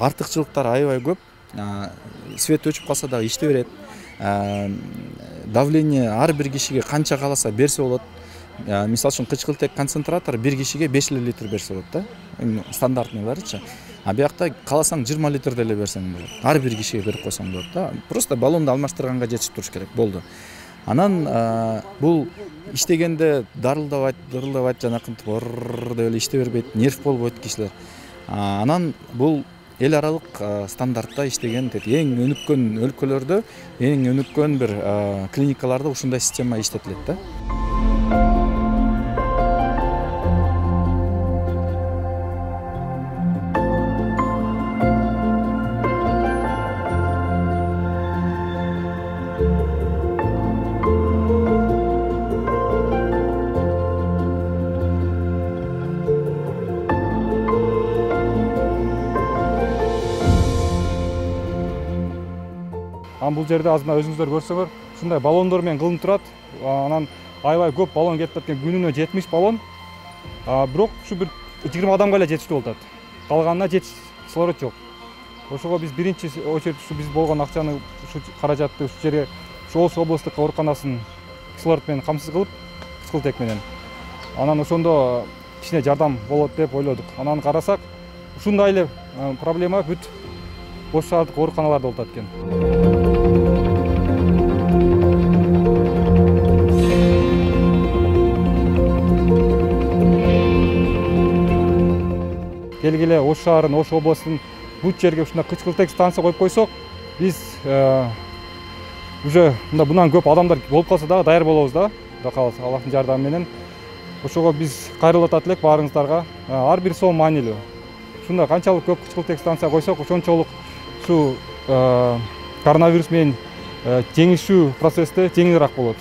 артыкчылыктары аябай көп. Свет өчүп калса дагы иштей берет. Давление ар бир кишиге канча кааласа берсе болот. Мисалы үчүн кычкылтек концентратор бир кишиге 5 литр берсе болот да. Стандартныйларычы. Биякта кааласаң 20 литр деле берсең болот. Ар бир кишиге берип койсоң болот да. Просто баллонду алмаштырганга жетип туруш керек болду. Анан бул иштегенде дарылдабайт, жанакынтип деп эле иштей бербейт, нерв болбойт кишилер. Анан бул эл аралык стандартта иштеген эң өнүккөн өлкөлөрдө, эң өнүккөн бир клиникаларда ушундай система иштетилет да. Бул жерде азырына өзүңүздөр көрсөңөр, ушундай баллондор менен кылынып турат. Анан аябай көп баллон кетип аткан, күнүнө 70 баллон. Бирок ушу бир 20 адамга эле жетиштүү болот. Калганына жетиш кислород жок. Ошого биз биринчи очередь ушу биз болгон акчаны, ушу каражатты ушу жерге, ушу Ош облустук ооруканасын кислород менен камсыз кылып, кычкылтек менен. Анан ошондо кичине жардам болот деп ойлодук. Анан карасак, ушундай эле проблема бүт Ош шаардык ооруканаларда болуп аткан. Келгиле Ош шаарын, Ош областын бүт жерге ушундай кычкылтек станция коюп койсок, биз уже мындан көп адамдар болуп калса дагы даяр болобуз да, Кудай кааласа, Аллахтын жардамы менен. Ошого биз кайрылып элек баарыңыздарга. Ар бир сом маанилүү. Ушундай канчалык көп кычкылтек станция койсок, ошончолук ушу коронавирус менен жеңишүү процессте жеңилирээк болот.